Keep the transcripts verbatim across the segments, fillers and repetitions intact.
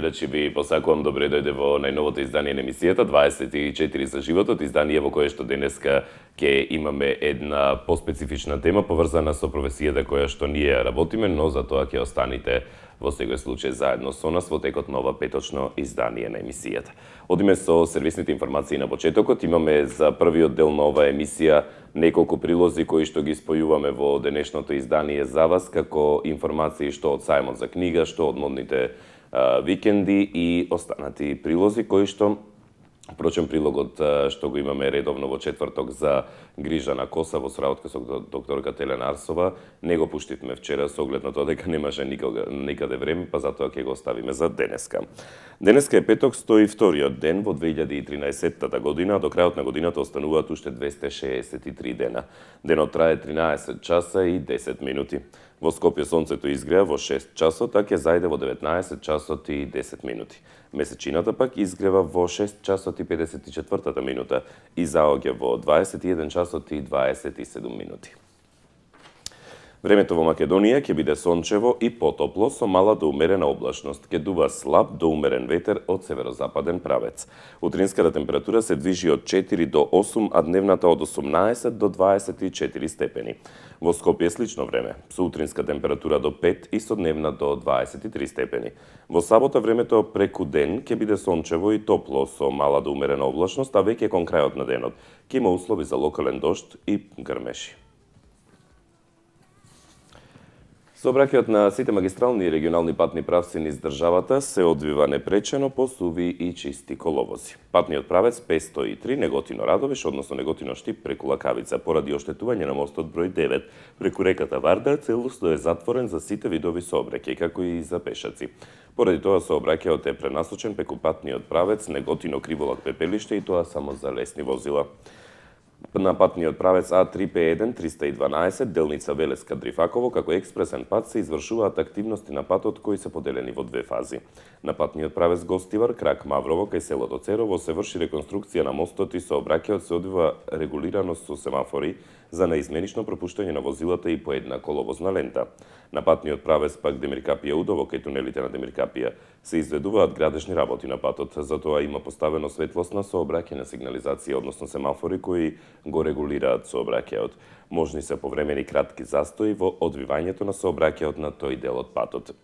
гледачи, ви посакувам добре дојде во најновото издание на емисијата дваесет и четири за животот, издание во кое што денеска ќе имаме една поспецифична тема поврзана со професијата која што ние работиме, но за тоа ќе останите во секој случај заедно со нас во текот на ова петочно издание на емисијата. Одиме со сервисните информации на почетокот. Имаме за првиот дел на оваа емисија неколку прилози кои што ги спојуваме во денешното издание за вас, како информации што од сајмот за книга, што од модните а, викенди и останати прилози кои што Впрочем, прилогот што го имаме редовно во четврток за грижа на коса во соработка со докторка Телена Арсова, не го пуштивме вчера со оглед на тоа дека немаше никога, никаде време, па затоа ќе го оставиме за денеска. Денеска е петок, сто и вториот ден во две илјади и тринаесетта година, а до крајот на годината остануваат уште двесте шеесет и три дена. Денот трае тринаесет часа и десет минути. Во Скопје сонцето изгреа во шест часот, а ќе зајде во деветнаесет часот и десет минути. Месечината пак изгрева во шест часот и педесет и четвртата минута и заоѓа во дваесет и еден часот и дваесет и седум минути. Времето во Македонија ќе биде сончево и потопло со мала до умерена облачност. Ќе дува слаб до умерен ветер од северозападен правец. Утринската температура се движи од четири до осум, а дневната од осумнаесет до дваесет и четири степени. Во Скопје е слично време, со утринска температура до пет и со дневна до дваесет и три степени. Во сабота времето преку ден ќе биде сончево и топло со мала до умерена облачност, а веќе кон крајот на денот ќе има услови за локален дожд и грмеши. Сообраќајот на сите магистрални и регионални патни правци низ државата се одвива непречено по суви и чисти коловози. Патниот правец петсто и три Неготино-Радовиш, односно Неготино-Штип преку Лакавица, поради оштетување на мостот број девет преку реката Варда, целосно е затворен за сите видови сообраќај, како и за пешаци. Поради тоа сообраќајот е пренасочен преку патниот правец Неготино-Криволак-Пепелиште и тоа само за лесни возила. На патниот правец А три П еден триста и дванаесет делница Велеска-Дрифаково како експресен пат се извршуваат активности на патот кои се поделени во две фази. На патниот правец Гостивар крак Маврово кај селото Церово се врши реконструкција на мостот и сообраќајот се одвива регулирано со семафори за наизменично пропуштање на возилата и по една коловозна лента. На патниот правец пак Демиркапија Удово кај тунелите на Демиркапија се изведуваат градежни работи на патот, затоа има поставено светлосна сообраќајна сигнализација, односно семафори кои го регулираат сообраќајот. Можни се повремени кратки застои во одвивањето на сообраќајот на тој дел од патот.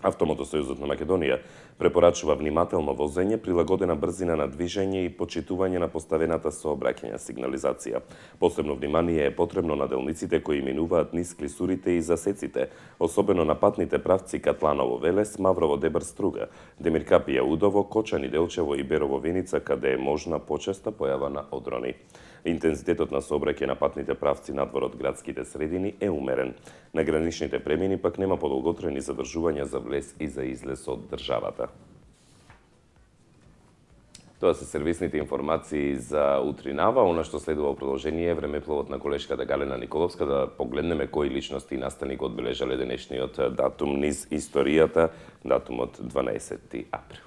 Автомотосојузот на Македонија препорачува внимателно возење, прилагодена брзина на движење и почитување на поставената сообраќајна сигнализација. Посебно внимание е потребно на делниците кои минуваат низ клисурите и засеците, особено на патните правци Катланово-Велес, Маврово-Дебар-Струга, Демиркапија-Удово, Кочани-Делчево и Берово-Виница, каде е можна почеста појава на одрони. Интензитетот на сообраќај на патните правци надвор од градските средини е умерен. На граничните премини пак нема подолготрајни задржувања за влез и за излез од државата. Тоа се сервисните информации за утринава. Она што следува во продолжение е времепловот на колешката Галена Николовска, да погледнеме кои личности и настани го одбележале денешниот датум низ историјата, датумот дванаесети април.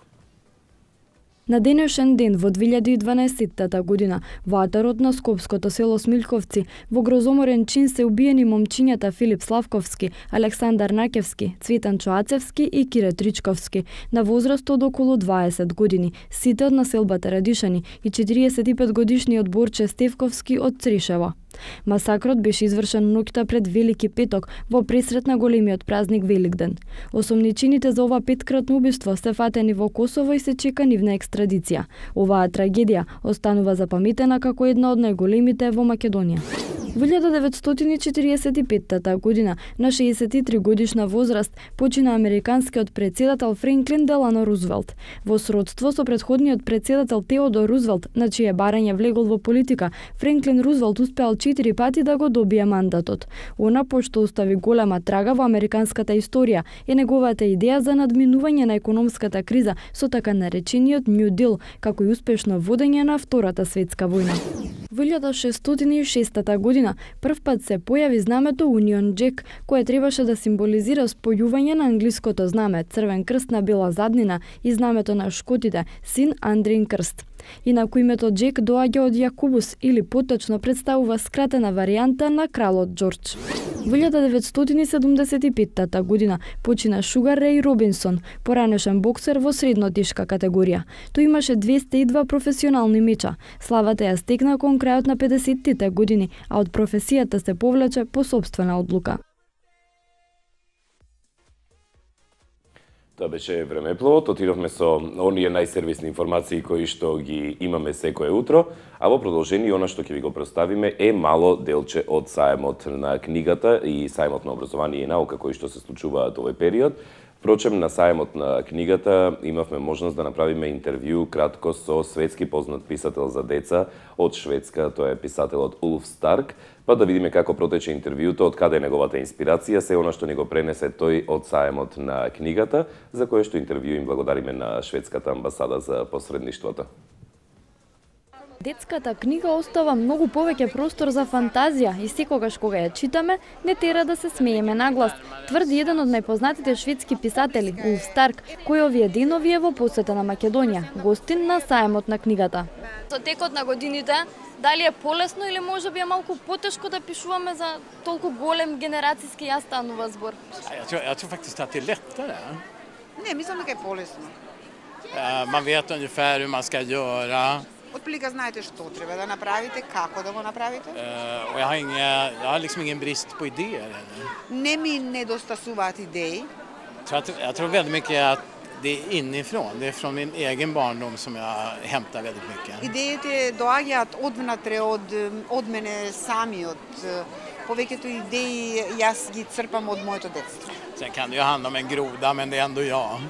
На денешен ден во две илјади и дванаесетта година во атарот на скопското село Смилковци во грозоморен чин се убиени момчињата Филип Славковски, Александар Накевски, Цветан Чоацевски и Кире Тричковски на возраст од околу дваесет години, сите од населбата Радишани и четириесет и пет годишниот Борче Стевковски од Цришево. Масакрот беше извршен ноќта пред Велики петок во пресрет на големиот празник Великден. Осомничените за ова петкратно убиство се фатени во Косово и се чека нивна екстрадиција. Оваа трагедија останува запаметена како една од најголемите во Македонија. Во илјада деветстотини четириесет и петта година на шеесет и три годишна возраст почина американскиот претседател Франклин Делано Рузвелт. Во сродство со претходниот претседател Теодор Рузвелт, на чие барање влегол во политика, Франклин Рузвелт успеал четири пати да го добие мандатот. Она пошто остави голема трага во американската историја е неговата идеја за надминување на економската криза со така наречениот New Deal, како и успешно водење на Втората светска војна. Во илјада шестстотини и шеста година прв пат се појави знамето Union Jack, кое требаше да символизира спојување на англиското знаме црвен крст на бела заднина и знамето на Шкотите син Андрин крст. Инаку името Джек доаѓа од Јакубус или поточно представува скратена варијанта на кралот Џорџ. Во илјада деветстотини седумдесет и петта година почина Шугар Реј Робинсон, поранешен боксер во среднотешка категорија. Тој имаше двесте и два професионални меча. Славата ја стекна кон крајот на педесеттите години, а од професијата се повлече по сопствена одлука. Тоа беше Времепловот, отидовме со оние најсервисни информации кои што ги имаме секое утро, а во продолжение она што ќе ви го представиме е мало делче од саемот на книгата и саемот на образование и наука кои што се случуваат овој период. Впрочем, на саемот на книгата имавме можност да направиме интервју кратко со светски познат писател за деца од Шведска, тоа е писателот Улф Старк, па да видиме како протече интервјуто, од каде е неговата инспирација, се она што ни го пренесе тој од саемот на книгата, за кое што интервју им благодариме на шведската амбасада за посредништвото. Детската книга остава многу повеќе простор за фантазија и секогаш кога ја читаме, не тера да се смееме наглас, тврди еден од најпознатите шведски писатели, Улф Старк, кој овие денови е во посета на Македонија, гостин на саемот на книгата. Со текот на годините, дали е полесно или може би е малку потешко да пишуваме за толку голем генерацијски јас станува збор? Jag tror, jag tror faktiskt att det är lättare. Не, мислам дека е полесно. Eh, Man vet ungefär hur man ska göra. Отприлика знаете што треба да направите, како да го направите. Eh, Och jag har, inga, jag har liksom ingen brist på idéer. eller. Не ми недостасуваат идеи. Så jag, tror- jag tror väldigt mycket att det är inifrån. Det är från min egen barndom som jag hämtar väldigt mycket. Идеите доаѓаат одвнатре од од мене самиот. Повеќето идеи јас ги црпам од моето детство. Sen kan det ju handla om en groda, men det är ändå jag.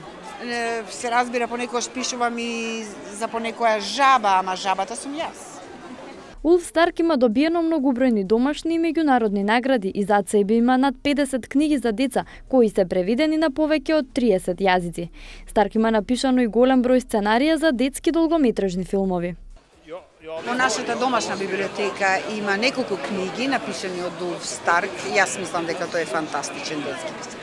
Е, Се разбира, понекогаш пишувам и за понекоја жаба, ама жабата сум јас. Улф Старк има добиено многобројни домашни и меѓународни награди и зад себе има над педесет книги за деца, кои се преведени на повеќе од триесет јазици. Старк има напишано и голем број сценарија за детски долгометражни филмови. Во нашата домашна библиотека има неколку книги напишани од Улф Старк. Јас мислам дека тој е фантастичен детски писател.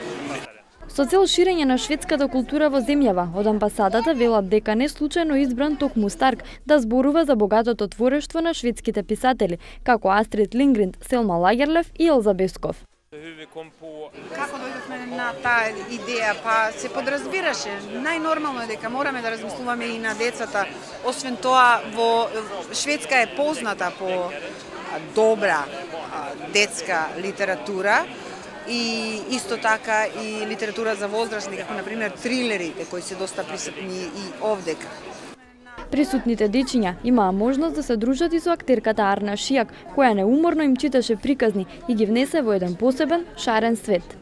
Со цел ширење на шведската култура во земјава, од амбасадата велат дека не случајно избран токму Старк да зборува за богатото творештво на шведските писатели, како Астрид Лингрен, Селма Лагерлев и Елза Бесков. Како дојдовме на таа идеја? Па се подразбираше. Најнормално е дека мораме да размислуваме и на децата. Освен тоа, во Шведска е позната по а, добра а, детска литература и исто така и литература за возрастни, како например трилерите кои се доста присутни и овдека. Присутните дечиња имаа можност да се дружат и со актерката Арна Шијак, која неуморно им читаше приказни и ги внесе во еден посебен, шарен свет.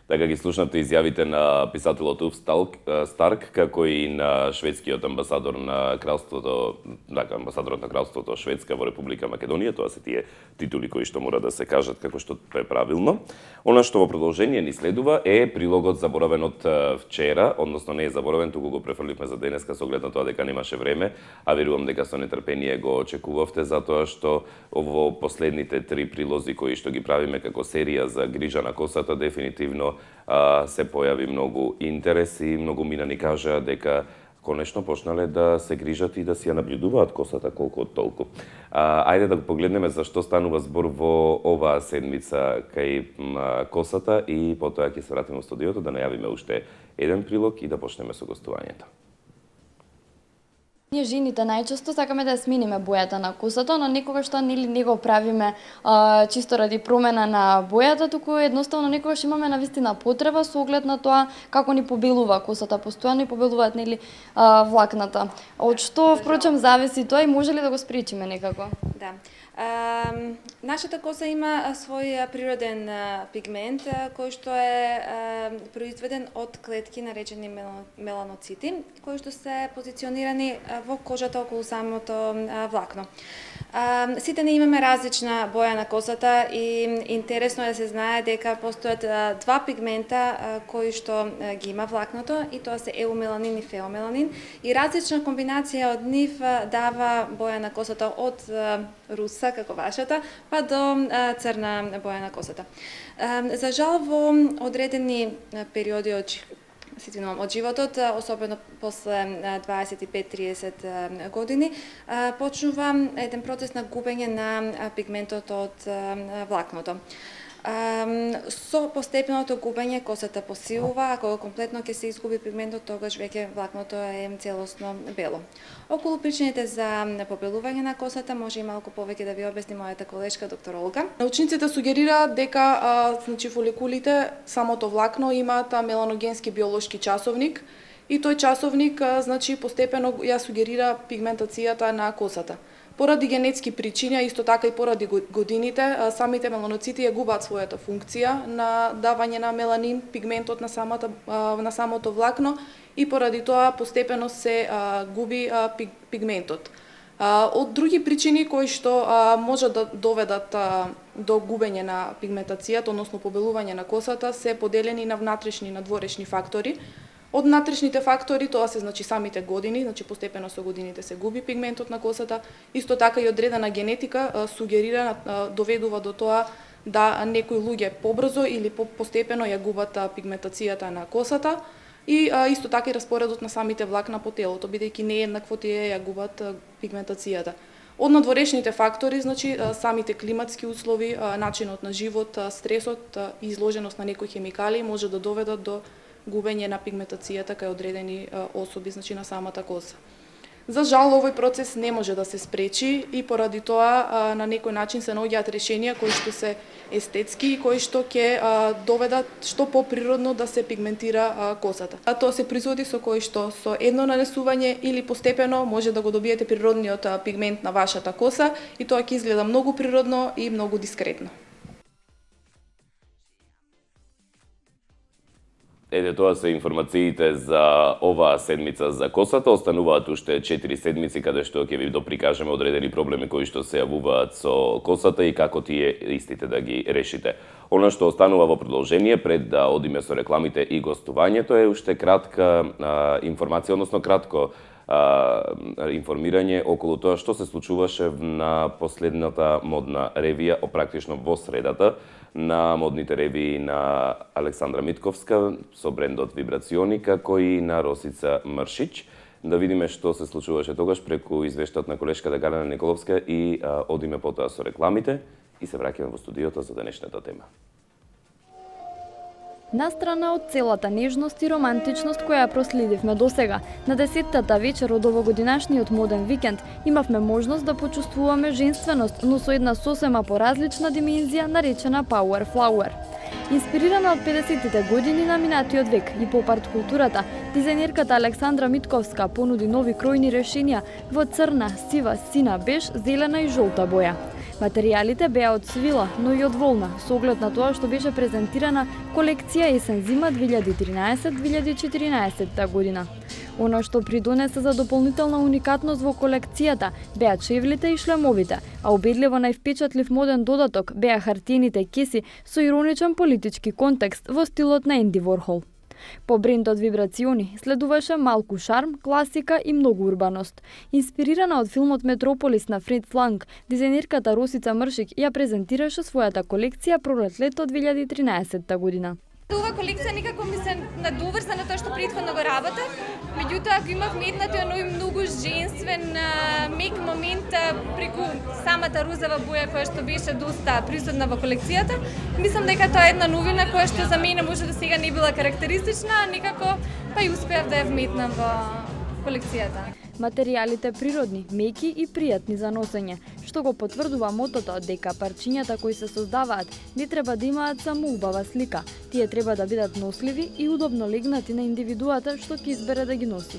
Така ги слушнате изјавите на писателот Улф Старк, како и на шведскиот амбасадор на кралството, така, амбасадорот на кралството Шведска во Република Македонија, тоа се тие титули кои што мора да се кажат како што е правилно. Она што во продолжение ни следува е прилогот заборавен од вчера, односно не е заборавен, туку го префрливме за денеска со оглед на тоа дека немаше време, а верувам дека со нетрпение го очекувавте, затоа што во последните три прилози кои што ги правиме како серија за грижа на косата, дефинитивно а, се појави многу интерес и многу мина ни кажа дека конечно почнале да се грижат и да си ја наблюдуваат косата колку од толку. А, ајде да погледнеме за што станува збор во оваа седмица кај м, косата и потоа ќе се вратиме во студиото да најавиме уште еден прилог и да почнеме со гостувањето. Ние жените најчесто сакаме да ја смениме бојата на косата, но некогаш тоа нели не го правиме а, чисто ради промена на бојата, туку едноставно некогаш имаме навистина потреба со оглед на тоа како ни побелува косата, постојано и побелуваат нели а, влакната. Од што впрочем зависи тоа и може ли да го спречиме некако? Да. А, нашата коса има а, свој а, природен а, пигмент а, кој што е а, произведен од клетки наречени мелано, меланоцити, кои што се позиционирани а, во кожата околу самото а, влакно. А, сите не имаме различна боја на косата и интересно е да се знае дека постојат а, два пигмента а, кои што а, ги има влакното и тоа се еумеланин и феомеланин и различна комбинација од нив а, дава боја на косата од а, руса како вашата па до а, црна боја на косата. А, за жал во одредени периоди од сетивам од животот, особено после дваесет и пет до триесет години, почнува еден процес на губење на пигментот од влакното. Со постепеното губење косата посилува, ако комплетно ќе се изгуби пигментот, тогаш веќе влакното е целосно бело. Околу причините за побелување на косата може и малку повеќе да ви објасни мојата колешка доктор Олга. Научниците сугерираат дека а, значи фоликулите, самото влакно имаат меланогенски биолошки часовник и тој часовник а, значи постепено ја сугерира пигментацијата на косата. Поради генетски причини, исто така и поради годините, самите меланоцити ја губаат својата функција на давање на меланин, пигментот на самата на самото влакно и поради тоа постепено се а, губи а, пигментот. А, од други причини кои што а, може да доведат а, до губење на пигментацијата, односно побелување на косата, се поделени на внатрешни и надворешни фактори. Од внатрешните фактори тоа се значи самите години, значи постепено со годините се губи пигментот на косата, исто така и одредена генетика а, сугерира, а, доведува до тоа да некои луѓе побрзо или постепено ја губат а, пигментацијата на косата и а, исто така и распоредот на самите влакна по телото, бидејќи нееднакво тие ја губат а, пигментацијата. Од надворешните фактори, значи а, самите климатски услови, а, начинот на живот, а, стресот и изложеност на некои хемикали може да доведат до губење на пигментацијата кај одредени а, особи, значи на самата коса. За жал, овој процес не може да се спречи и поради тоа а, на некој начин се наоѓаат решенија кои што се естетски и кои што ќе а, доведат што поприродно да се пигментира а, косата. А тоа се производи со кои што со едно нанесување или постепено може да го добиете природниот а, пигмент на вашата коса и тоа ќе изгледа многу природно и многу дискретно. Еде, тоа се информациите за оваа седмица за косата. Остануваат уште четири седмици каде што ќе ви доприкажеме одредени проблеми кои што се јавуваат со косата и како тие истите да ги решите. Она што останува во продолжение пред да одиме со рекламите и гостувањето е уште кратка а, информација, односно кратко а, информирање околу тоа што се случуваше на последната модна ревија, практично во средата, на модните ревии на Александра Митковска со брендот Вибрациони, како и на Росица Мршич. Да видиме што се случуваше тогаш преку извештаот на колешката Галена Николовска и а, одиме потоа со рекламите и се враќаме во студиото за денешната тема. Настрана од целата нежност и романтичност која ја проследивме досега, на десеттата вечер од овогодинашниот моден викенд имавме можност да почувствуваме женственост, но со една сосема поразлична димензија наречена Power Flower. Инспирирана од педесеттите години на минатиот век и поп-арт културата, дизајнерката Александра Митковска понуди нови кројни решенија во црна, сива, сина, беж, зелена и жолта боја. Материјалите беа од свила, но и од волна, со оглед на тоа што беше презентирана колекција есен-зима две илјади и тринаесет две илјади и четиринаесетта година. Оно што придонесе за дополнителна уникатност во колекцијата беа чевлите и шлемовите, а убедливо највпечатлив моден додаток беа хартиените кеси со ироничен политички контекст во стилот на Енди Ворхол. По брендот Вибрациони следуваше малку шарм, класика и многу урбаност. Инспирирана од филмот Метрополис на Фриц Ланг, дизајнерката Росица Мршик ја презентираше својата колекција пролет-лето две илјади и тринаесетта година. Оваа колекција некако ми се надоврза на тоа што претходно го работев, меѓутоа ако имавме едната оној многу женствен мек момент преку самата розова боја која што беше доста присутна во колекцијата, мислам дека тоа е една новина која што за мене може да сега не била карактеристична, некако па и успеав да ја вметнам во колекцијата. Материјалите природни, меки и пријатни за носење, што го потврдува мотото дека парчињата кои се создаваат не треба да имаат само убава слика, тие треба да бидат носливи и удобно легнати на индивидуата што ќе избере да ги носи.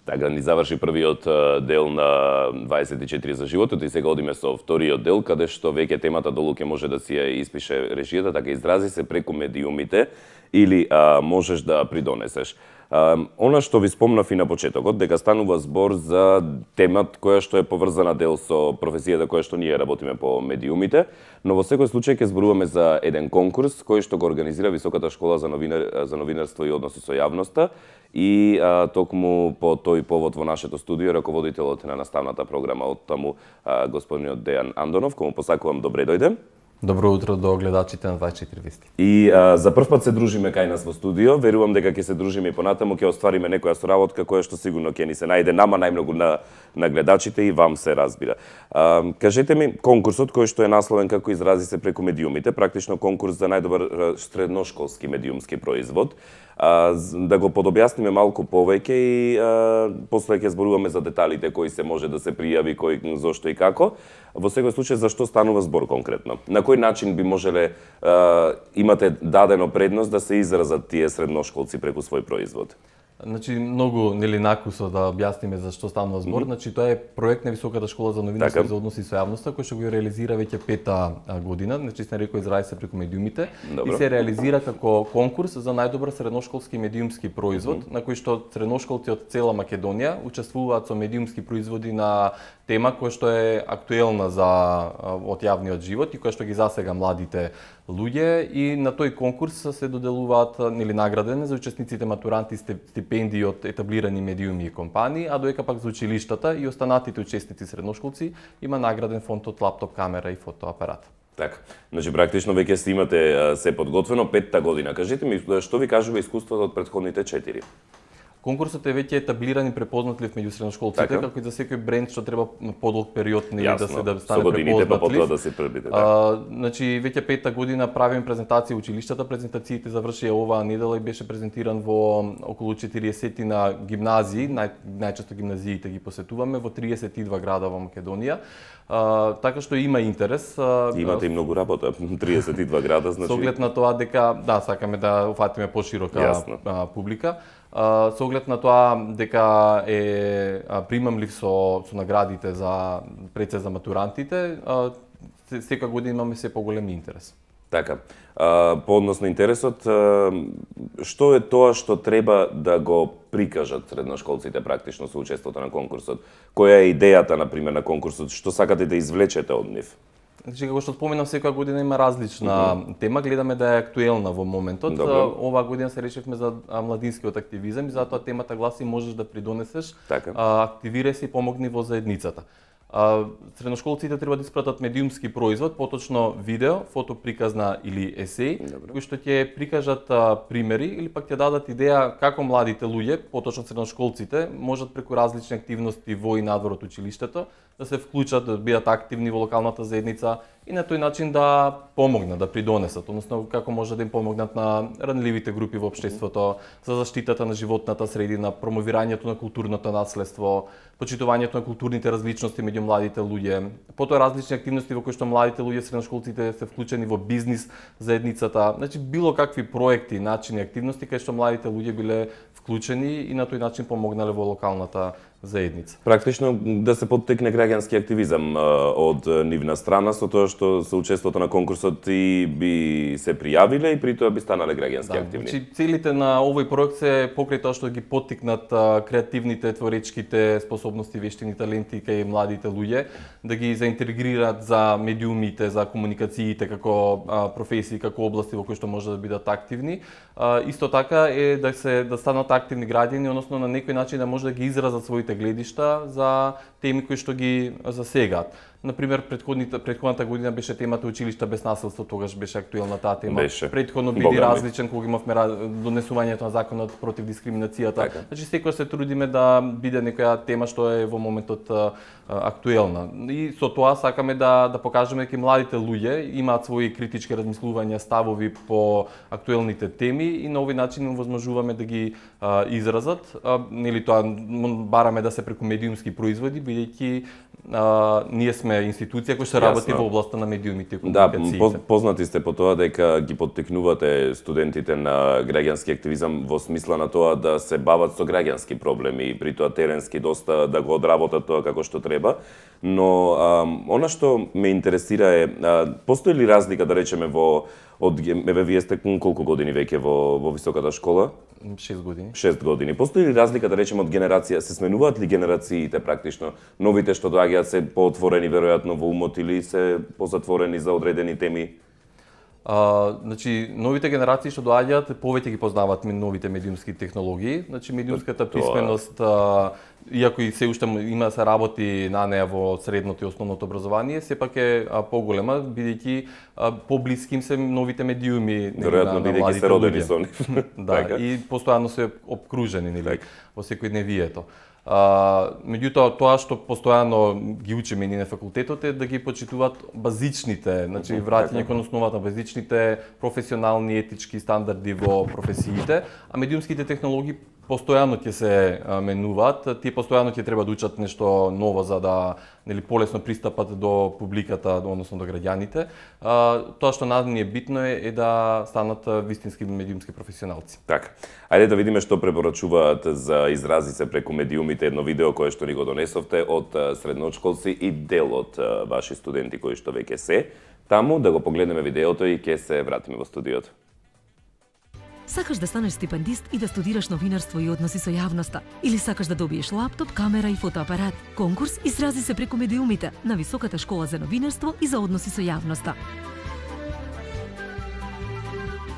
Така ни заврши првиот дел на дваесет и четири за животот и сега одиме со вториот дел, каде што веќе темата долу ќе може да си ја испише режијата, така изрази се преку медиумите или а, можеш да придонесеш. Она што ви спомнав и на почетокот, дека станува збор за темат која што е поврзана дел со професијата која што ние работиме по медиумите, но во секој случај ќе зборуваме за еден конкурс кој што го организира Високата школа за, новинар, за новинарство и односи со јавноста и а, токму по тој повод во нашето студио раководителот на наставната програма од таму а, господинот Дејан Андонов, кому посакувам добре дојде. Добро утро до гледачите на дваесет и четири вести. И а, за прв пат се дружиме кај нас во студио, верувам дека ќе се дружиме и понатаму, ќе оствариме некоја соработка која што сигурно ќе ни се најде нама најмногу на на гледачите и вам се разбира. А, кажете ми, конкурсот кој што е насловен како изрази се преку медиумите, практично конкурс за најдобар средношколски медиумски производ, а, да го подобјасниме малку повеќе и а, после ќе зборуваме за деталите кои се може да се пријави, кој зошто и како. Во секој случај за што станува збор конкретно? На кој начин би можеле а, имате дадено предност да се изразат тие средношколци преку свој производ? Значи, многу нели накусо да објасниме за што станува збор. Mm -hmm. Значи, тоа е проект на Високата школа за новинарство и за односи со јавноста, кој што го реализира веќе пета година, значи се нарекува изрази се преку медиумите. Добро. И се реализира како конкурс за најдобар средношколски медиумски производ, mm -hmm. на кој што средношколци од цела Македонија учествуваат со медиумски производи на тема која што е актуелна за од јавниот живот и која што ги засега младите луѓе, и на тој конкурс се доделуваат нели наградени за учесниците матуранти стипендии од етаблирани медиуми и компании, а доека пак за училиштата и останатите учесници средношколци има награден фонд од лаптоп камера и фотоапарат. Така, значи практично веќе сте имате се подготвено петта година. Кажете ми, што ви кажува искуството од претходните четири? Конкурсот е веќе етаблиран и препознатлив меѓу средношколците, така, како и за секој бренд што треба подолг период нели да се да стане препознатлив. Па потоа да се пребите, така. А, значи веќе петта година правиме презентации во училиштата, презентациите завршија оваа недела и беше презентиран во околу четириесет на гимназии, нај, најчесто гимназиите ги посетуваме во триесет и два града во Македонија. А, така што има интерес. А, имате и многу работа, триесет и два града, значи. Со оглед на тоа дека да сакаме да уфатиме поширока а, публика. Uh, со оглед на тоа дека е uh, примамлив со, со наградите за пред за матурантите, uh, секоја година имаме се поголем интерес. Така, uh, по однос на интересот, uh, што е тоа што треба да го прикажат средношколците практично со учеството на конкурсот? Која е идејата, например, на конкурсот? Што сакате да извлечете од нив? Значи, како што споменав, секоја година има различна mm -hmm. тема, гледаме да е актуелна во моментот. Добро. Оваа година се решивме за младинскиот активизам и затоа темата гласи можеш да придонесеш, така. Активирај се и помогни во заедницата. А, средношколците треба да испратат медиумски производ, поточно видео, фотоприказна или есеј, Добре. кои што ќе прикажат а, примери или пак ќе дадат идеја како младите луѓе, поточно средношколците, можат преку различни активности во и надвор од училиштето да се вклучат, да бидат активни во локалната заедница и на тој начин да помогнат, да придонесат, односно како може да им помогнат на ранливите групи во општеството, за заштитата на животната средина, промовирањето на културното наследство, почитувањето на културните различности меѓу младите луѓе, потоа различни активности во кои што младите луѓе, средношколците се вклучени во бизнис заедницата, значи било какви проекти, начини, активности кај што младите луѓе биле вклучени и на тој начин помогнале во локалната заедница. Практично да се поттекне граѓански активизам од нивна страна со тоа што со учеството на конкурсот и би се пријавиле и при тоа би станале граѓански да, активни. Значи целите на овој проект се покрај тоа што ги поттикнат креативните, творечките способности, вештини, таленти кај младите луѓе, да ги заинтегрираат за медиумите, за комуникациите како професии, како области во кои што може да бидат активни. Исто така е да се да станат активни граѓани, односно на некој начин да може да ги изразат своите гледишта за теми кои што ги засегаат. Например, предходната предходната година беше темата училишта без насилство, тогаш беше актуелна таа тема. Беше. Предходно биде различен кога имавме донесувањето на законот против дискриминацијата. Така. Значи секој се трудиме да биде некоја тема што е во моментот а, актуелна. И со тоа сакаме да да покажеме дека младите луѓе имаат своји критички размислувања, ставови по актуелните теми и на овој начин им возможуваме да ги а, изразат. А, нели тоа бараме да се преку медиумски производи, бидејќи а, ние сме институција која што работи во областа на медиумите и комуникациите. Да, познати сте по тоа дека ги поттекнувате студентите на граѓански активизам во смисла на тоа да се бават со граѓански проблеми и при тоа теренски доста да го одработат тоа како што треба. Но а, она што ме интересира е, а, постои ли разлика, да речеме, во од еве вие сте колку години веќе во во високата школа? шест години. шест години. Постои ли разлика, да речеме, од генерација? Се сменуваат ли генерациите практично? Новите што доаѓаат се поотворени веројатно во умот или се позатворени за одредени теми? А, значи, новите генерации што доаѓаат повеќе ги познаваат новите медиумски технологии. Значи, медиумската писменост, а, иако и се уште има да се работи на неа во средното и основното образование, сепак е а, поголема, бидејќи поблиски им се новите медиуми. Веројатно, бидејќи се родени со нив. Да, и постојано се обкружени нели, во секојдневието. А, меѓутоа, тоа што постојано ги учиме ние на факултетот е да ги почитуваат базичните, значи враќање кон основата на базичните професионални етички стандарди во професиите, а медиумските технологии постојано ќе се менуваат, тие постојано ќе треба да учат нешто ново за да нели полесно пристапат до публиката, односно до граѓаните. А, тоа што на ни е битно е, е да станат вистински медиумски професионалци. Така. Ајде да видиме што препорачуваат за изрази се преку медиумите, едно видео кое што ни го донесовте од средношколци и дел од ваши студенти кои што веќе се таму, да го погледнеме видеото и ќе се вратиме во студиото. Сакаш да станеш стипендист и да студираш новинарство и односи со јавноста? Или сакаш да добиеш лаптоп, камера и фотоапарат? Конкурс изрази се преку медиумите на Високата школа за новинарство и за односи со јавноста.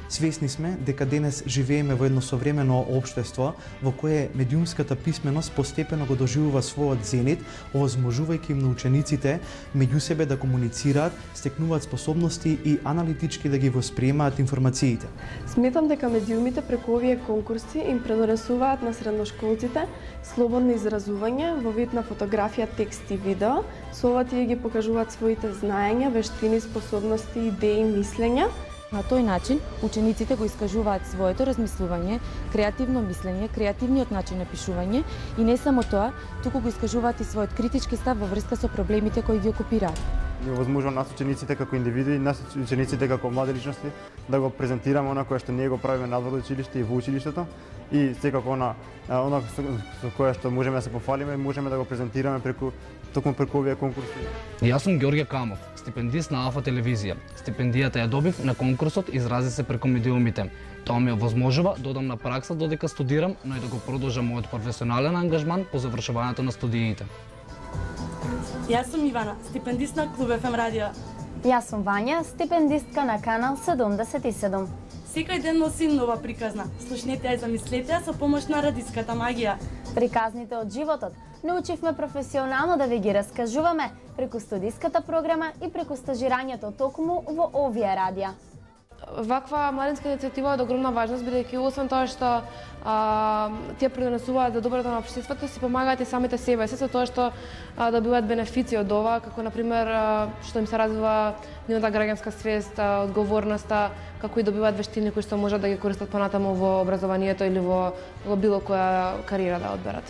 Свесни сме дека денес живееме во едно современо општество во кое медиумската писменост постепено го доживува својот зенит, овозможувајќи им на учениците меѓу себе да комуницираат, стекнуваат способности и аналитички да ги восприемаат информациите. Сметам дека медиумите преку овие конкурси им предонесуваат на средношколците слободно изразување во вид на фотографија, текст и видео. Со ова тие ги покажуваат своите знаења, вештини, способности, идеи, мислења. На тој начин, учениците го искажуваат своето размислување, креативно мислење, креативниот начин на пишување и не само тоа, туку го искажуваат и својот критички став во врска со проблемите кои ги окупираат. Ни возможно нас учениците како индивиди, нас учениците како млади личности да го презентираме она кое што ние го правиме надвор од училиште и во училиштето и секако она она со кое што можеме да се пофалиме, можеме да го презентираме преку токму преку овие конкурси. Јас сум Ѓорѓе Камов, стипендист на Алфа телевизија. Стипендијата ја добив на конкурсот изрази се преку медиумите. Тоа ми овозможува да одам на пракса додека студирам, но и да го продолжам мојот професионален ангажман по завршувањето на студиите. Јас сум Ивана, стипендист на Клуб еф ем радио. Јас сум Вања, стипендистка на канал седумдесет и седум. Секој ден носи нова приказна. Слушнете ја и замислете ја со помош на радиската магија. Приказните од животот научивме професионално да ви ги раскажуваме преку студиската програма и преку стажирањето токму во овие радија. Ваква младинска иницијатива е од огромна важност, бидејќи освен тоа што а, тие придонесуваат за доброто на општеството, си помагаат и самите себе, се со тоа што а, добиваат бенефици од ова, како например а, што им се развива нивната граѓанска свест, а, одговорноста, како и добиваат вештини кои што можат да ги користат понатаму во образованието или во, во било која кариера да одберат.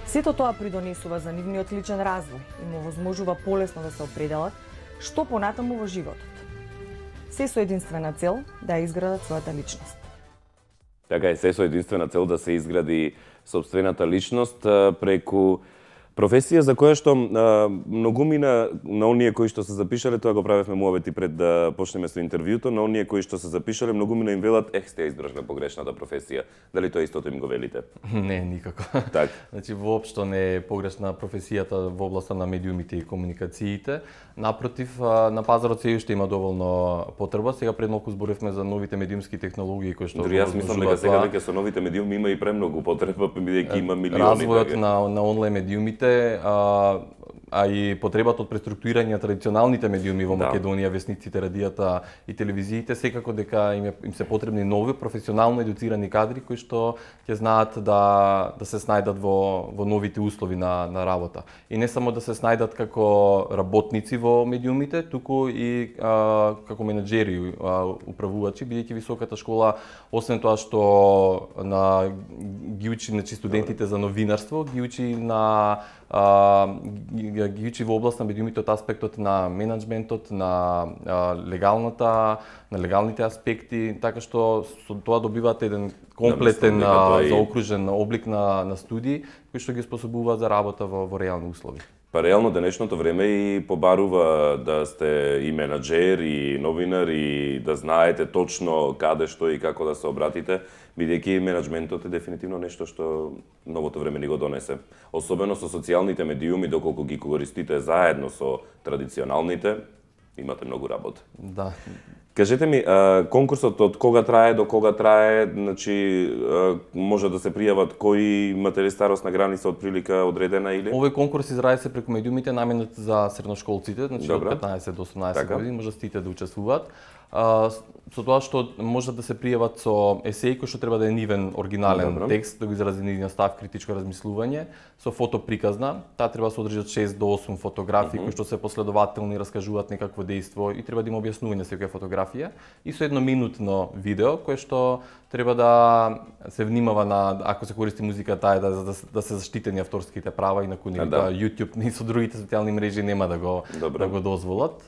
Сето тоа придонесува за нивниот личен развој и му возможува полесно да се определат што понатаму во животот. Се со единствена цел да ја изградат својата личност. Така е, се со единствена цел да се изгради собствената личност преку професија за која што а, многумина на оние кои што се запишале, тоа го правевме муавети пред да почнеме со интервјуто, на оние кои што се запишале, многумина им велат, ех, сте ја избрале погрешната професија. Дали тоа истото им го велите? Не, никако. Так. Значи, воопшто не е погрешна професијата во областа на медиумите и комуникациите. Напротив, на пазарот се уште има доволно потреба. Сега пред малку зборевме за новите медиумски технологии кои што Дори јас мислам дека сега веќе со новите медиуми има и премногу потреба, бидејќи има милиони. Развојот на на онлайн медиумите А, а и потребата од преструктурирање на традиционалните медиуми во Македонија, весниците, радијата и телевизиите, секако дека им, е, им се потребни нови професионално едуцирани кадри кои што ќе знаат да да се снајдат во во новите услови на на работа. И не само да се снајдат како работници во медиумите, туку и а, како менаџери, а, управувачи, бидејќи високата школа освен тоа што на ги учи, значи, студентите за новинарство, ги учи на а, ги ги учи во област на медиумите од аспектот на менеджментот, на легалната, на легалните аспекти, така што со тоа добиваат еден комплетен да, заокружен облик на на студии кои што ги способуваат за работа во, во реални услови. Па реално денешното време и побарува да сте и менаџер и новинар и да знаете точно каде што и како да се обратите, бидејќи менеджментот е дефинитивно нешто што новото време ни го донесе. Особено со социјалните медиуми, доколку ги користите заедно со традиционалните, имате многу работа. Да. Кажете ми, конкурсот од кога трае до кога трае, значи може да се пријават кои имате старосна граница од прилика одредена или? Овој конкурс изради се преку медиумите наменет за средношколците, значи Добре. од петнаесет до осумнаесет така. години може сите да учествуваат. А, со тоа што може да се пријават со есеј кој што треба да е нивен оригинален Добре. текст, да го изрази нивниот став, критичко размислување, со фотоприказна, таа треба да се одржи од шест до осум фотографии Мгм. кои што се последователни и раскажуваат некакво дејство и треба да има објаснување секоја фотографија и со едно минутно видео кое што треба да се внимава на, ако се користи музика, таа е да, да, да се заштитени авторските права и на кои А, да. YouTube и со другите социјални мрежи нема да го Добре. да го дозволат.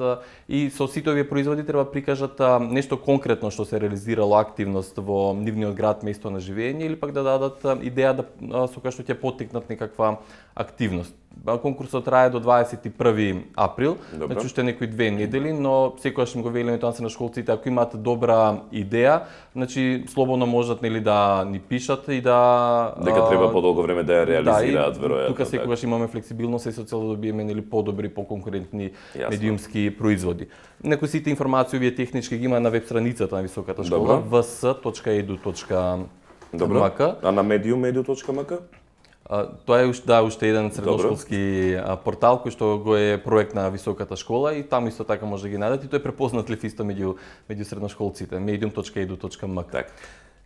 И со сите овие производи треба да прикажат а, нешто конкретно што се реализирало активност во нивниот град, место на живење или пак да дадат а, идеја да а, со која што ќе поттикнат некаква активност. Конкурсот трае до дваесет и први април, Добре. значи уште некои две недели, но секогаш им го велиме тоа на школците, ако имаат добра идеја, значи слободно можат нели да ни пишат и да Дека треба подолго време да ја реализираат, да, веројатно. Тука секогаш имаме флексибилност и со цел да добиеме нели подобри, поконкурентни Јасно. медиумски производи. Некои сите информации овие технички ги има на веб страницата на високата школа Добро. в с точка e d u точка Добро. m k. А на medium edu точка m k? А, тоа е уште да, уште еден средношколски а, портал кој што го е проект на високата школа и таму исто така може да ги најдете и тој е препознатлив исто меѓу меѓу средношколците. medium точка e d u точка m k. Така.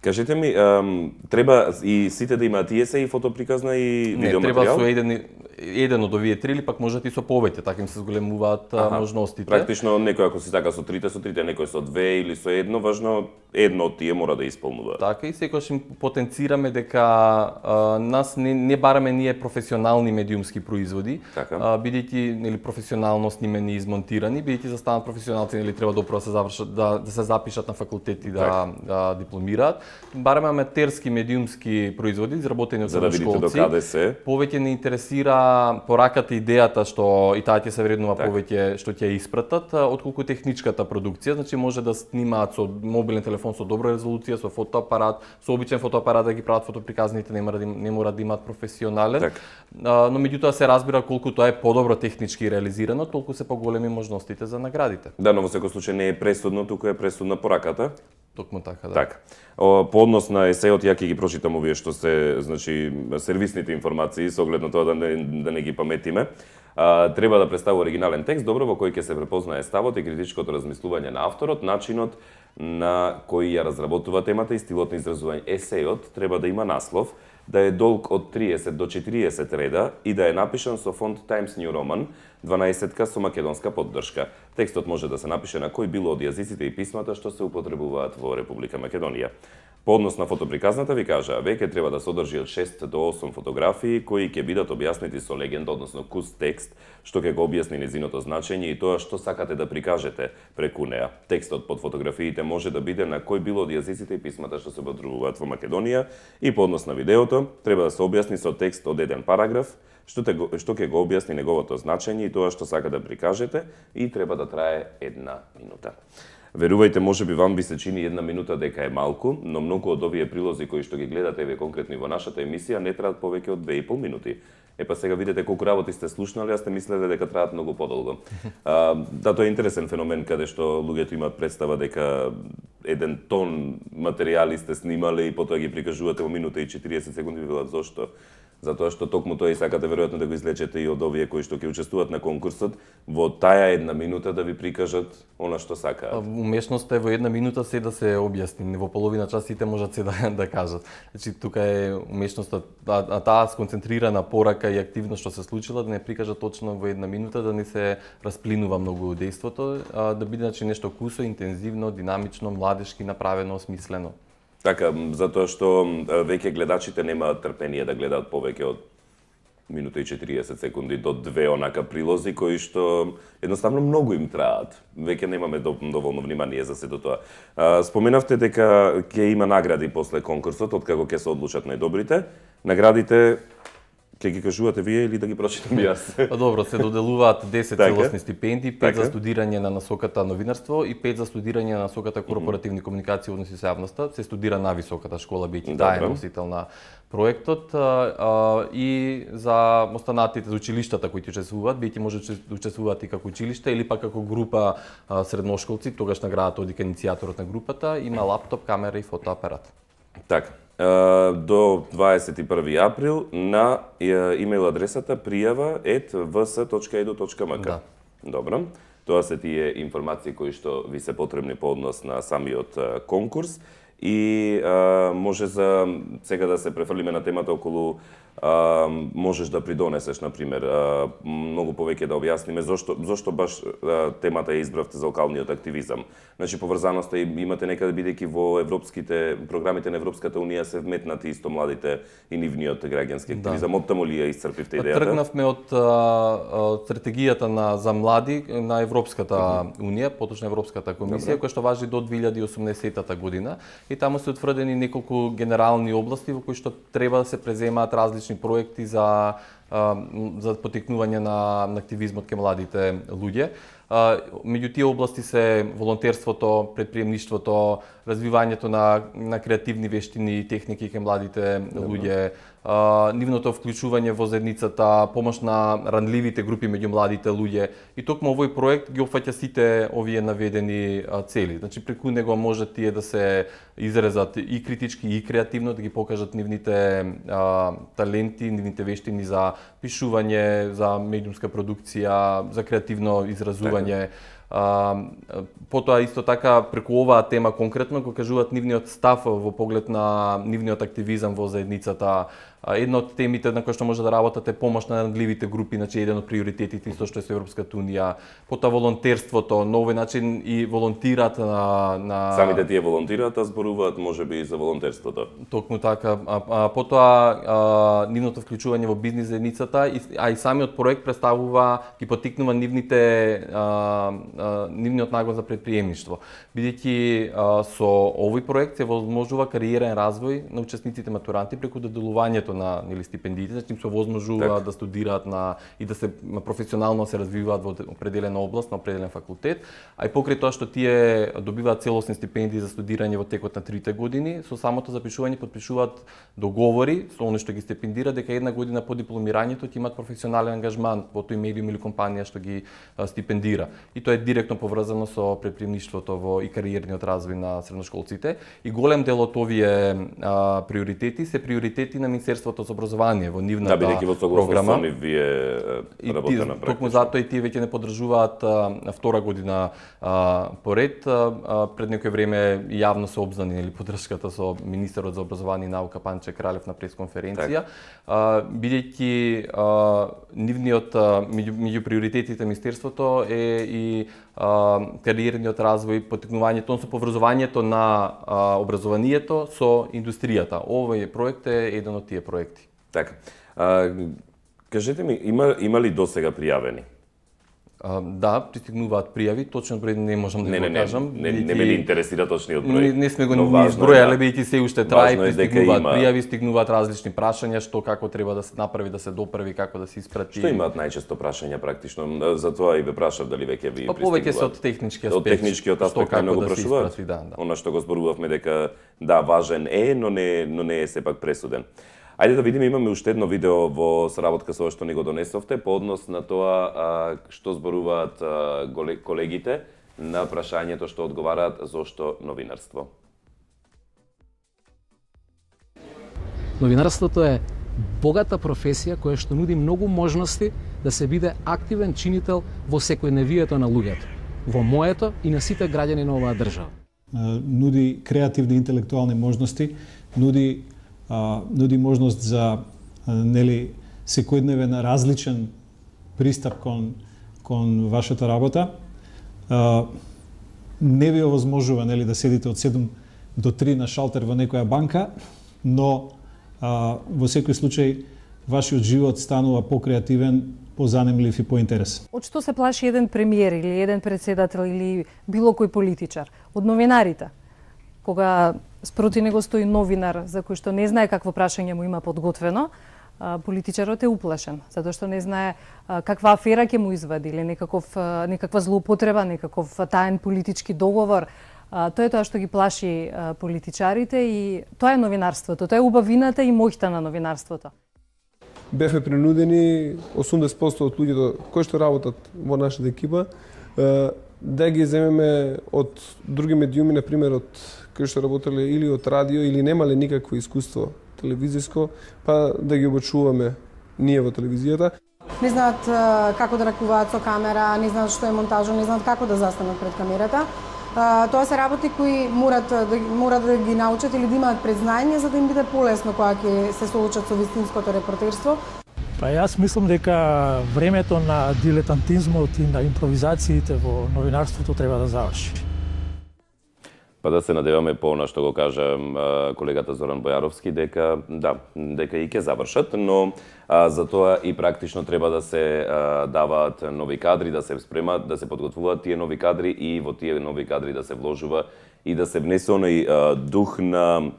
Кажете ми, ем, треба и сите да имаат и есеј, и фотоприказна и Не, видеоматеријал? треба со еден еден од овие три или пак можат и со повеќе, така им се зголемуваат а, можностите. Практично некој ако си така со трите, со трите, некој со две или со едно, важно едно од тие мора да исполнува. Така и секогаш им потенцираме дека а, нас не, не бараме ние професионални медиумски производи, Така. а, бидејќи нели професионално снимени и измонтирани, бидејќи за станат професионалци нели треба допро да се завршат да, да се запишат на факултети да, Така. да дипломираат. Бараме аматерски медиумски производи изработени од За да видите средношколци. докаде се. Повеќе не интересира пораката, идејата што и таа ќе се вреднува Така. повеќе што ќе ја испратат, а, отколку техничката продукција, значи може да снимаат со мобилен телефон со добра резолуција, со фотоапарат, со обичен фотоапарат да ги прават фотоприказните, не мора да, им- не мора да имаат професионален. Така. А, но меѓутоа се разбира колку тоа е подобро технички реализирано, толку се поголеми можностите за наградите. Да, но во секој случај не е пресудно, туку е пресудна пораката. Токму така, да. Така. О, по однос на есеот, ја ќе ги прочитам овие што се, значи, сервисните информации, со оглед на тоа да не, да не ги паметиме. А, треба да представува оригинален текст, добро, во кој ќе се препознае ставот и критичкото размислување на авторот, начинот на кој ја разработува темата и стилот на изразување. Есеот треба да има наслов, да е долг од триесет до четириесет реда и да е напишан со фонт Times New Roman, дванаесетка со македонска поддршка. Текстот може да се напише на кој било од јазиците и писмата што се употребуваат во Република Македонија. По однос на фотоприказната ви кажа, веќе треба да содржи од шест до осум фотографии кои ќе бидат објаснети со легенда, односно кус текст, што ќе го објасни незиното значење и тоа што сакате да прикажете преку неа. Текстот под фотографиите може да биде на кој било од јазиците и писмата што се употребуваат во Македонија и по однос на видеото треба да се објасни со текст од еден параграф, што, те, го- што ќе го објасни неговото значење и тоа што сака да прикажете и треба да трае една минута. Верувајте, може би вам би се чини една минута дека е малку, но многу од овие прилози кои што ги гледате еве конкретно и во нашата емисија не траат повеќе од две и пол минути. Е па сега видите колку работи сте слушнали, а сте мислеле дека траат многу подолго. А, да, тоа е интересен феномен каде што луѓето имаат представа дека еден тон материјали сте снимале и потоа ги прикажувате во минута и четириесет секунди, велат зошто? Затоа што токму тоа и сакате веројатно да го излечете и од овие кои што ќе учествуваат на конкурсот, во таа една минута да ви прикажат она што сакаат. Умешноста е во една минута се да се објасни, во половина час сите можат се да, да кажат. Значи тука е умешноста, а, а таа сконцентрирана порака и активност што се случила да не прикажа точно во една минута, да не се расплинува многу дејството, а, да биде значи нешто кусо, интензивно, динамично, младешки направено, смислено. Така, затоа што м, веќе гледачите немаат трпение да гледаат повеќе од минута и четириесет секунди до две онака прилози кои што едноставно многу им траат. Веќе немаме доволно внимание за сето тоа. Споменавте дека ќе има награди после конкурсот, откако ќе се одлучат најдобрите. Наградите ќе ги кажувате вие или да ги прочитам јас? Па добро, се доделуваат десет целосни стипендии, пет за студирање на насоката новинарство и пет за студирање на насоката корпоративни комуникации и односи со јавноста. Се студира на високата школа, бијќи таа е носител на проектот, и за останатите за училиштата кои ќе учествуваат, бијќи може да учествуваат и како училиште или пак како група средношколци, тогаш наградата од иницијаторот на групата има лаптоп, камера и фотоапарат. Така. До дваесет и први април на имейл адресата пријава ет в с точка е ду точка ем ка. Добро. Тоа се тие информации кои што ви се потребни по однос на самиот конкурс и а, може за сега да се префрлиме на темата околу а, можеш да придонесеш, например, а, многу повеќе да објасниме зошто зошто баш а, темата ја избравте за локалниот активизам. Значи поврзаноста имате некаде, бидејќи во европските програмите на Европската унија се вметнати исто младите и нивниот граѓански активизам. Да. Оттаму ли ја исцрпивте идејата? Тргнавме од а, стратегијата на за млади на Европската uh-huh. унија, поточно Европската комисија, која што важи до две илјади и осумнаесетта година, и таму се утврдени неколку генерални области во кои што треба да се преземаат различни проекти за за потикнување на, на активизмот кај младите луѓе. Меѓу тие области се волонтерството, предприемништвото, развивањето на, на креативни вештини и техники кај младите луѓе, нивното вклучување во заедницата, помош на ранливите групи меѓу младите луѓе. И токму овој проект ги опфаќа сите овие наведени цели. Значи преку него може тие да се изрезат и критички и креативно, да ги покажат нивните а, таленти, нивните вештини за пишување, за медиумска продукција, за креативно изразување. Uh, потоа исто така преку оваа тема конкретно го кажуваат нивниот став во поглед на нивниот активизам во заедницата. Uh, една од темите на кои што може да работат е помош на рандливите групи, значи еден од приоритетите исто што е со Европската унија. Потоа волонтерството, на овој начин и волонтираат на, на... Самите тие волонтираат, а зборуваат можеби и за волонтерството. Токму така. А, а, потоа а, нивното вклучување во бизнис заедницата, а и самиот проект представува, ги потикнува нивните а, нивниот нагон за предприемништво. Бидејќи со овој проект се возможува кариерен развој на учесниците матуранти преку доделувањето на нели стипендиите, значи им се возможува так. да студираат на и да се професионално се развиваат во определена област, на определен факултет, а и покрај тоа што тие добиваат целосни стипендии за студирање во текот на трите години, со самото запишување подпишуваат договори со оној што ги стипендира дека една година по дипломирањето ќе имаат професионален ангажман во тој медиум или компанија што ги стипендира. И тоа е директно поврзано со предприемништвото во и кариерниот развој на средношколците. И голем дел од овие а, приоритети се приоритети на Министерството за образование во нивната да, бидејќи во согласно со нив вие работите на практика. Токму затоа и тие веќе не поддржуваат а, втора година а, поред. А, пред некој време јавно се обзнани или поддршката со министерот за образование и наука Панче Кралев на пресконференција, а, бидејќи а, нивниот меѓу, меѓу приоритетите на министерството е и а, кариерниот развој, потикнувањето, со поврзувањето на а, образованието со индустријата. Овој проект е еден од тие проекти. Така. А, кажете ми, има, има ли досега пријавени? А, да, пристигнуваат пријави, точен број не можам да не, го не, кажам. Не, не, не ме интересира точниот број. Не, не сме го ни избројале, бидејќи се уште трае, пристигнуваат пријави, стигнуваат различни прашања, што како треба да се направи, да се доправи, како да се испрати. Што имаат најчесто прашања практично? За тоа и ве прашав дали веќе ви пристигнуваат. Па повеќе се од технички аспект. Од техничкиот аспект најмногу прашуваат. Да, да. Она што го зборувавме дека да, важен е, но не, но не е сепак пресуден. Ајде да видиме, имаме уште едно видео во соработка со што ни го донесовте по однос на тоа а, што зборуваат а, колегите на прашањето што одговараат зошто новинарство. Новинарството е богата професија која што нуди многу можности да се биде активен чинител во секојдневието на луѓето, во моето и на сите граѓани на оваа држава. Нуди креативни интелектуални можности, нуди Uh, нуди можност за uh, нели секојдневен различен пристап кон кон вашата работа. Uh, не ви овозможува нели да седите од седум до три на шалтер во некоја банка, но uh, во секој случај вашиот живот станува покреативен, позанимлив и поинтересен. Од што се плаши еден премиер или еден председател или било кој политичар? Од новинарите. Кога спроти него стои новинар за кој што не знае какво прашање му има подготвено, политичарот е уплашен, затоа што не знае каква афера ќе му извади или некаков, некаква злоупотреба, некаков таен политички договор. Тоа е тоа што ги плаши политичарите и тоа е новинарството, тоа е убавината и моќта на новинарството. Бевме принудени осумдесет проценти од луѓето кои што работат во нашата екипа да ги земеме од други медиуми, на пример од кои што работеле или од радио или немале никакво искуство телевизиско, па да ги обучуваме ние во телевизијата. Не знаат како да ракуваат со камера, не знаат што е монтажа, не знаат како да застанат пред камерата. Тоа се работи кои морат да морат да ги научат или да имаат предзнање за да им биде полесно кога ќе се соочат со вистинското репортерство. Па јас мислам дека времето на дилетантизмот и на импровизациите во новинарството треба да заврши. Па да се надеваме по она што го кажа колегата Зоран Бојаровски, дека да, дека и ќе завршат, но а, за тоа и практично треба да се а, даваат нови кадри, да се спремат, да се подготвуваат тие нови кадри и во тие нови кадри да се вложува и да се внесе оној а, дух на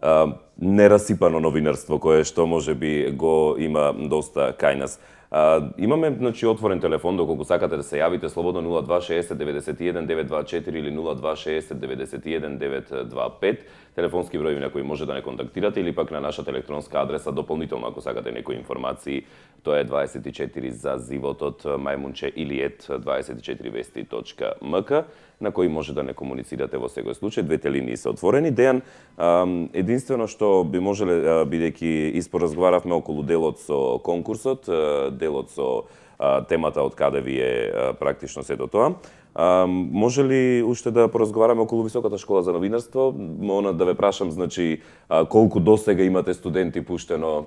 а, нерасипано новинарство кое што можеби го има доста кај нас. А, имаме значи отворен телефон, доколку сакате да се јавите слободно нула два шеесет деветдесет и еден девет два четири или нула два шеесет деветдесет и еден девет два пет. Телефонски број на кој може да не контактирате или пак на нашата електронска адреса дополнително ако сакате некои информации. Тоа е дваесет и четири за животот мајмунче или ет дваесет и четири вести точка ем ка на кој може да не комуницирате во секој случај. Двете линии се отворени. Дејан, единствено што би можеле, бидејќи испоразговаравме околу делот со конкурсот, делот со темата од каде ви е практично сето тоа, може ли уште да поразговараме околу Високата школа за новинарство? Она да ве прашам, значи, колку досега имате студенти пуштено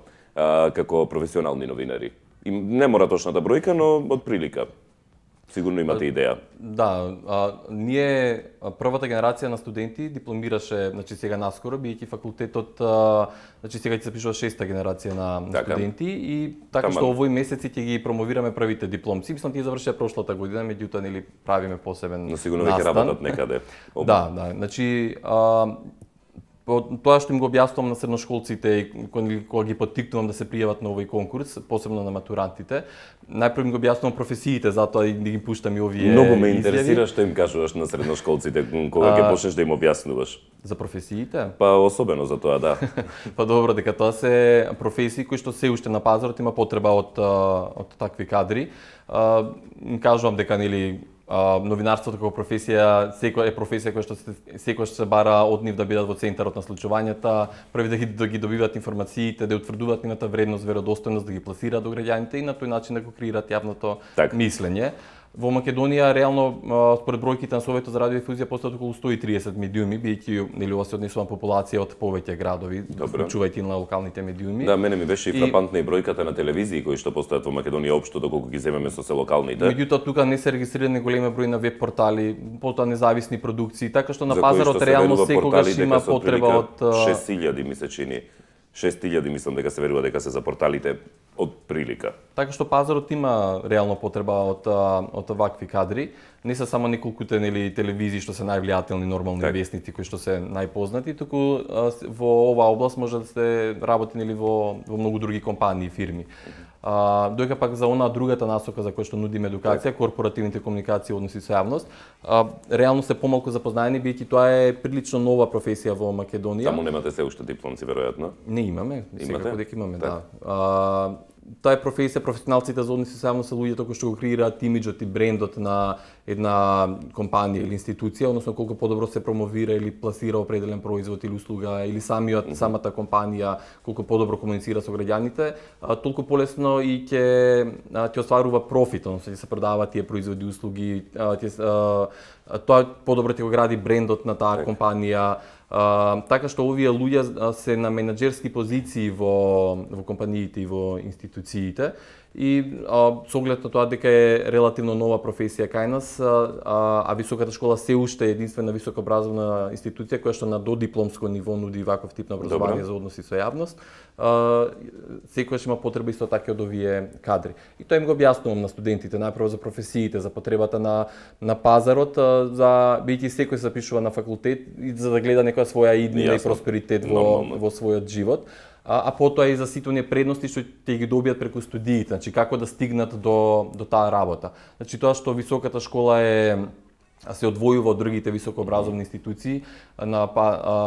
како професионални новинари? И не мора точната бројка, но од прилика. Сигурно имате идеја. Да, а, ние првата генерација на студенти дипломираше, значи сега наскоро, бијќи факултетот, а, значи сега ќе се пишува шеста генерација на, на студенти и така Таман. Што овој месеци ќе ги промовираме првите дипломци. Мислам тие завршија прошлата година, меѓутоа нели правиме посебен настан. Но сигурно веќе работат некаде. Да, да, значи а, тоа што им го објаснувам на средношколците и кога ги поттикнувам да се пријават на овој конкурс, посебно на матурантите, најпрво им го објаснувам професиите, затоа и да ги пуштам и овие Многу ме интересира што им кажуваш на средношколците кога ќе почнеш да им објаснуваш. За професиите? Па особено за тоа, да. Па добро, дека тоа се професии кои што се уште на пазарот има потреба од од такви кадри. Им кажувам дека нели Uh, новинарството како професија, секоја е професија која што се, секојаш се бара од нив да бидат во центарот на случувањата, први да ги, да ги добиваат информациите, да утврдуваат нивната вредност, веродостојност, да ги пласираат до граѓаните и на тој начин да го креираат јавното так. мислење. Во Македонија реално според бројките на Советот за радиодифузија постојат околу сто и триесет медиуми, биејќи нели ова се однесува на популација од повеќе градови, вклучувајќи на локалните медиуми. Да, мене ми беше и фрапантна и бројката на телевизии кои што постојат во Македонија општо доколку ги земеме со се локалните. Меѓутоа тука не се регистрирани големи број на веб портали, потоа независни продукции, така што на пазарот реално секогаш има потреба од шест илјади ми се чини. шест илјади мислам дека се верува дека се за порталите од прилика. Така што пазарот има реално потреба од од овакви кадри. Не се само неколкуте нели телевизии што се највлијателни нормални так. вестници кои што се најпознати, туку во оваа област може да се работи нели во во многу други компании и фирми. А, доека пак за она другата насока за која што нудиме едукација, корпоративните комуникации и односи со јавност, а, реално се помалку запознаени биејќи тоа е прилично нова професија во Македонија. Таму немате се уште дипломци веројатно? Не имаме, секако дека имаме, так. да. А, таа е професија, професионалците за односи со јавност се луѓето кои што го креираат имиџот и брендот на една компанија или институција, односно колку подобро се промовира или пласира определен производ или услуга, или самиот mm -hmm. самата компанија колку подобро комуницира со граѓаните, толку полесно и ќе ќе остварува профит, односно ќе се продаваат тие производи и услуги, ќе тоа подобро ќе го гради брендот на таа компанија. Uh, така што овие луѓе се на менаџерски позиции во, во компаниите и во институциите И а, со оглед на тоа дека е релативно нова професија кај нас, а, а високата школа се уште е единствена високообразовна институција која што на додипломско ниво нуди ваков тип на образование за односи со јавност, секојаш има потреба исто така од овие кадри. И тоа им го објаснувам на студентите, најпрво за професиите, за потребата на на пазарот, за бидејќи секој се запишува на факултет и за да гледа некоја своја иднина и просперитет во во својот живот. А, а потоа и за сите оние предности што ќе ги добијат преку студиите, значи како да стигнат до до таа работа. Значи тоа што високата школа е се одвојува од другите високообразовни институции на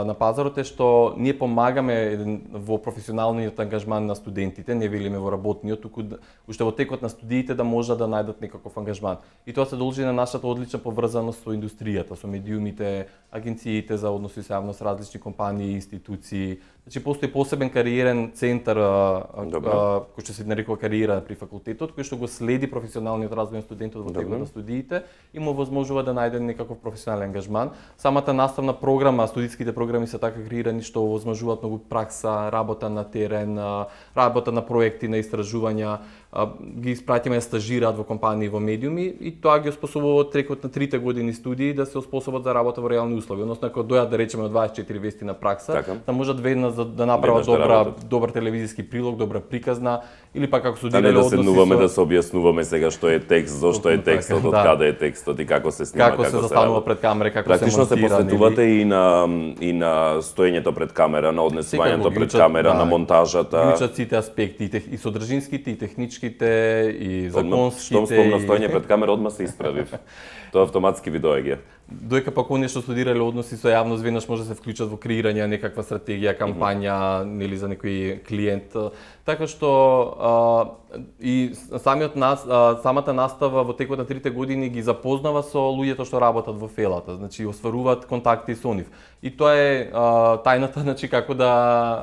на пазарот е што ние помагаме во професионалниот ангажман на студентите, не велиме во работниот, туку уште во текот на студиите да можат да најдат некаков ангажман. И тоа се должи на нашата одлична поврзаност со индустријата, со медиумите, агенциите за односи со јавност, различни компании, институции. Значи постои посебен кариерен центар кој што се нарекува кариера при факултетот, кој што го следи професионалниот развој на студентот во текот на студиите и му возможува да најде некаков професионален ангажман. Самата наставна програма, студиските програми се така креирани што возможуваат многу пракса, работа на терен, работа на проекти, на истражувања, ги испратиме да стажираат во компании во медиуми и тоа ги оспособува трекот на трите години студии да се оспособат за работа во реални услови. Односно ако дојат да речеме од дваесет и четири вести на пракса, така, да можат веднаш да, да направат добра да добар телевизиски прилог, добра приказна или пак како студирале односи. Да не да седнуваме со... да се објаснуваме сега што е текст, зошто е текстот, од да. Каде е текстот и како се снима, како, како се застанува пред камера, како практично се монтира. Практично се посветувате и на и на стоењето пред камера, на однесувањето пред камера, да, на монтажата. Клучат сите аспекти, и содржинските, и техничките, и законските. Штом спомнав стоење пред камера, одма се исправив. Тоа автоматски ви доаѓа. Доека пак оние што студирале односи со јавност веднаш може да се вклучат во креирање некаква стратегија, кампања, mm -hmm. нели за некој клиент. Така што а, и самиот нас, а, самата настава во текот на трите години ги запознава со луѓето што работат во фелата, значи остваруваат контакти со нив. И тоа е а, тајната, значи како да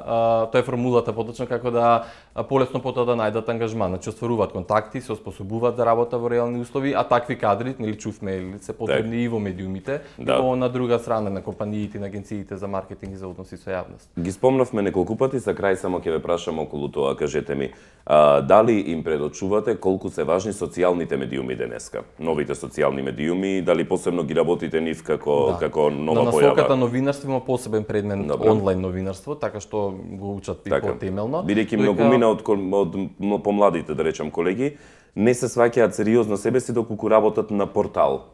а, тоа е формулата поточно како да а, полесно потоа да најдат ангажман, значи остваруваат контакти, се оспособуваат за работа во реални услови, а такви кадри, нели чувме, се потребни так. И во медиумите, да. И во на друга страна на компаниите, на агенциите за маркетинг и за односи со јавност. Ги спомнавме неколку пати, за крај само ќе ве прашам околу тоа, кажете ми, а, дали им предочувате колку се важни социјалните медиуми денеска? Новите социјални медиуми, дали посебно ги работите нив како да. Како нова на појава? На насоката новинарство има посебен предмет Добре. Онлайн новинарство, така што го учат и така. Потемелно. Бидејќи многумина од, од, од помладите, да речам, колеги, не се сваќаат сериозно себе си доколку работат на портал.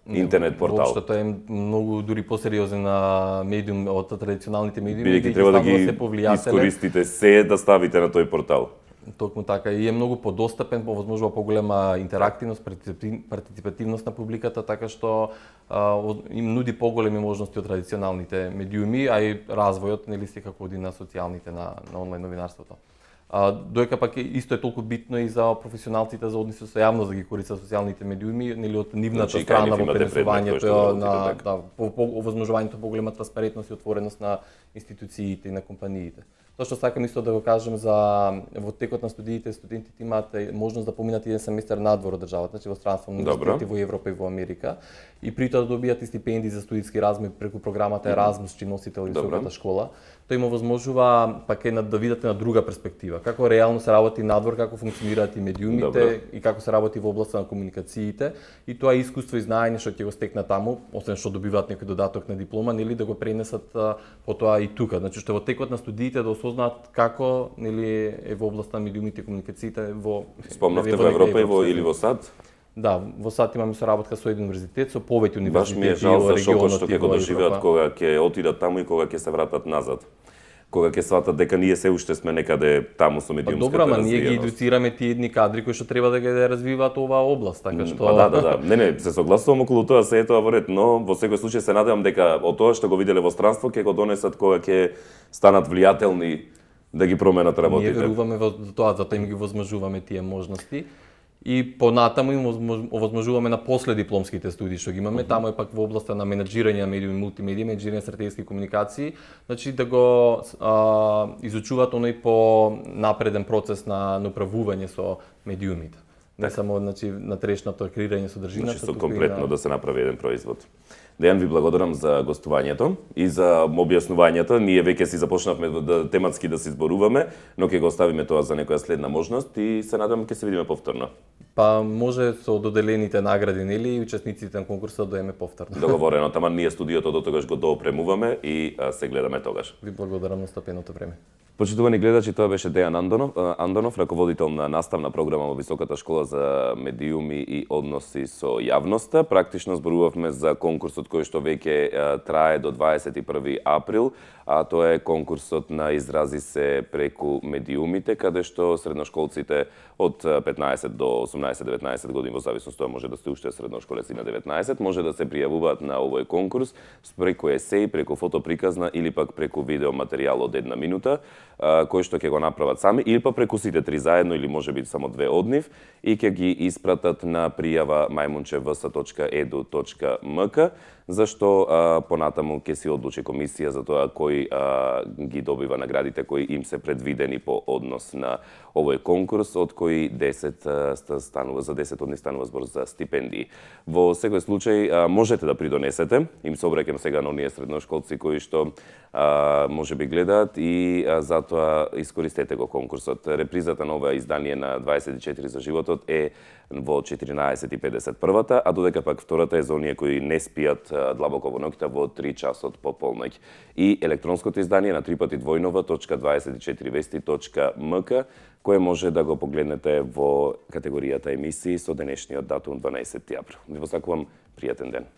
Интернет портал. Воопшто тоа е многу дури посериозен на медиум од традиционалните медиуми. Бидејќи треба да ги искористите се да ставите на тој портал. Токму така и е многу подостапен, повозможува поголема интерактивност, партиципативност на публиката, така што а, им нуди поголеми можности од традиционалните медиуми, а и развојот нели секако оди на социјалните, на, на онлайн новинарството. А, доека пак е, исто е толку битно и за професионалците за односи со јавност да ги користат социјалните медиуми, нели од нивната значи, страна во пренесувањето на да, по, по овозможувањето поголема транспарентност и отвореност на институциите и на компаниите. Тоа што сакам исто да го кажам за во текот на студиите, студентите имаат можност да поминат еден семестар надвор од државата, значи во странство на универзитети во Европа и во Америка, и при тоа да добијат и стипендии за студиски размој преку програмата Еразмус, чи носител високата школа. Тоа им овозможува пак е да видите на друга перспектива, како реално се работи надвор, како функционираат и медиумите Добре. И како се работи во областа на комуникациите, и тоа искуство и знаење што ќе го стекнат таму, освен што добиваат некој додаток на диплома, нели да го пренесат потоа и тука. Значи што во текот на студиите да осознаат како нели е во областа на медиумите и комуникациите во Спомнавте во Европа и во или во САД? Да, во САД имаме соработка со еден универзитет, со повеќе универзитети. Баш ми е жал за шокот што ќе го доживеат кога ќе отидат таму и кога ќе се вратат назад. Кога ќе сватат дека ние се уште сме некаде таму со медиумската развиеност. Добро, ама ние ги едуцираме тие едни кадри кои што треба да ги развиваат оваа област, така што Па да, да, да. Не, не, се согласувам околу тоа, се е тоа во ред, но во секој случај се надевам дека од тоа што го виделе во странство ќе го донесат кога ќе станат влијателни да ги променат работите. Ние веруваме во тоа, затоа им ги возможуваме тие можности. И понатаму им овозможуваме на последипломските студии што ги имаме, uh -huh. таму е пак во областа на менеджирање на медиуми, мултимедија, менеджирање стратегиски комуникации, значи да го а, изучуваат оној по напреден процес на, на управување со медиумите. Не само значи на трешното креирање содржината, значи со комплетно да се направи еден производ. Дејан, ви благодарам за гостувањето и за објаснувањето. Ние веќе си започнавме да, тематски да се зборуваме, но ќе го оставиме тоа за некоја следна можност и се надам ќе се видиме повторно. Па може со доделените награди, нели, и учесниците на конкурсот да доеме повторно. Договорено, тама ние студиото до тогаш го доопремуваме и а, се гледаме тогаш. Ви благодарам на стапеното време. Почитувани гледачи, тоа беше Дејан Андонов, Андонов, раководител на наставна програма во Високата школа за медиуми и односи со јавноста. Практично зборувавме за конкурсот кој што веќе трае до дваесет и први април, а тоа е конкурсот на изрази се преку медиумите, каде што средношколците од петнаесет до осумнаесет деветнаесет години, во зависност тоа може да сте уште средношколеци на деветнаесет, може да се пријавуваат на овој конкурс преку есеј, преку фотоприказна или пак преку видео материјал од една минута, кој што ќе го направат сами, или па преку сите три заедно, или може би само две од нив, и ќе ги испратат на пријава мајмунче в с точка е ду точка ем ка, зашто а, понатаму ќе си одлучи комисија за тоа кој а, ги добива наградите кои им се предвидени по однос на овој конкурс, од кои десет а, станува, за десет од нив станува збор за стипендии. Во секој случај а, можете да придонесете, им се обраќам сега на оние средношколци кои што а, може би гледаат и а, затоа искористете го конкурсот. Репризата на ова издание на дваесет и четири за животот е во четиринаесет и педесет првата, а додека пак втората е за оние кои не спијат длабоко во ноќта во три часот по полноќ. И електронското издание на три пати двојнова точка дваесет и четири вести точка ем ка, кое може да го погледнете во категоријата емисии со денешниот датум дванаесети април. Ви посакувам пријатен ден.